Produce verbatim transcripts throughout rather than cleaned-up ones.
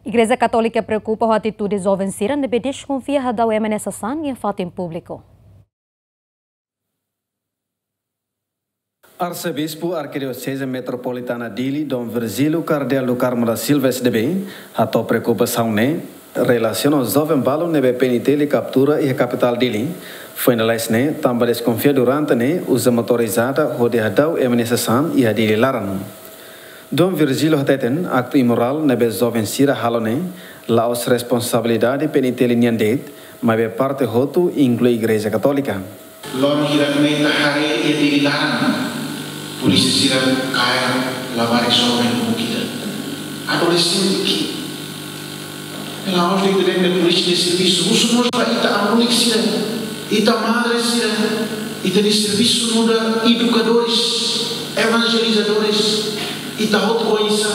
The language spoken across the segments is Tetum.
Igreja Katólika preokupa ho atitude joven sira ne'ebé deskonfia hadau ema nia sasán iha fatin públiku. Arsebispu Arkidioseze Metropolitana Dili, Dom Virgílio Kardeál do Carmo da Silva, S D B, hato'o preokupasaun ne'e relasiona ho joven balu ne'ebé P N T L kaptura iha kapitál Dili. Foin lalais ne'e, tanba deskonfia durante ne'e uza motorizada hodi hadau ema nia sasán iha Dili laran. Dom Virgílio hateten, aktu imorál ne'ebé joven sira halo ne'e la'ós responsabilidade P N T L nian de'it, maibé parte hotu, inklui Igreja Katólika. Loron hirak ne'e ita haree iha Dili laran, polísia sira kaer labarik joven, lubuk ida, adolexente ki'ik. La'ós de'it ita dehan polísia nia servisu, husu mós ba ita abulik sira, ita madre sira, ita-nia servisu nu'udar edukadores, evanjelizadores, ita hotu oinsá,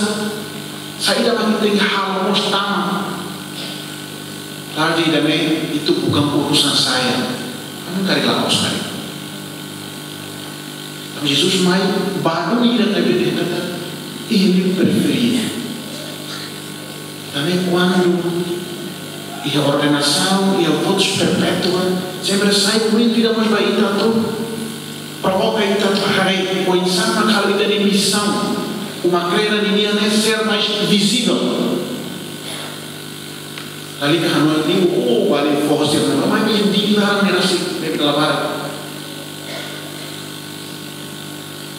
saida mak ita tenke halo mós tama. Tarde ida-ne'e, itu bukan urusan saya. Kamu karik la'ós karik. Tanba Jesus mai ba duni ida ne'ebé dehan katak, "Ele prefere." Tanba kuandu iha ordenasaun, iha votus perpétua, sempre sai momentu ida mós ba ita atu provoka ita atu haree oinsá mak halo ita-nia misaun, uma kreda ninian ne'e ser mais vizivel. Lalika hanoin liu, oh, bali foho sira, maibé Dili laran ne'e rasik, ne'ebé dala barak.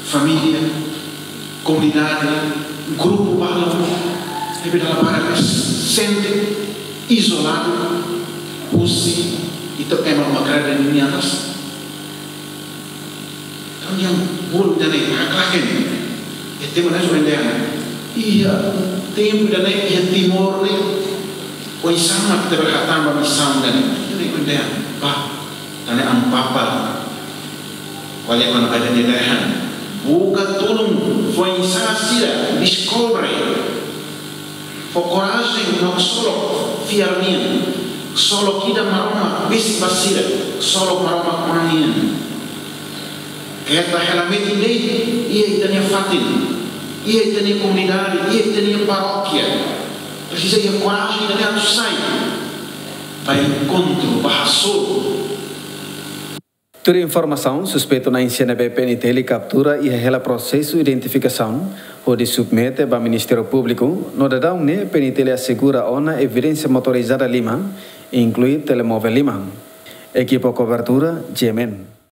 Família, komunidade, grupu balu, ne'ebé dala barak ne'e sente izoladu husi ita ema uma kreda ninian rasik. Entaun, yang bolu ida-ne'e, haklaken. Iha tempu ida-ne'e, iha tempu ida-ne'e, iha Timor ne'e, oinsá mak ita bele hatán ba misaun ida-ne'e. Ida-ne'e, ba, ida-ne'e Amu Papa, ko'alia kona-ba ida-ne'e dehan, buka tulun foin-sa'e sira, deskobre. Fó korajen no ksolok fiar nian. Ksolok ida Maromak besik ba sira, ksolok Maromak Oan nian. Keta hela metin de'it iha ita-nia fatin, iha ita-nia komunidade, iha ita-nia parókia. Presiza iha korajen ida-ne'e atu sai ba enkontru, ba hasoru. Tuir informasaun, suspeitu na'in-sia ne'ebé P N T L kaptura iha hela prosesu identifikasaun hodi submete ba Ministériu Públiku, no daudaun ne'e P N T L asegura ona evidénsia motorizada lima, inklui telemovel lima. Ekipa kobertura, G M N.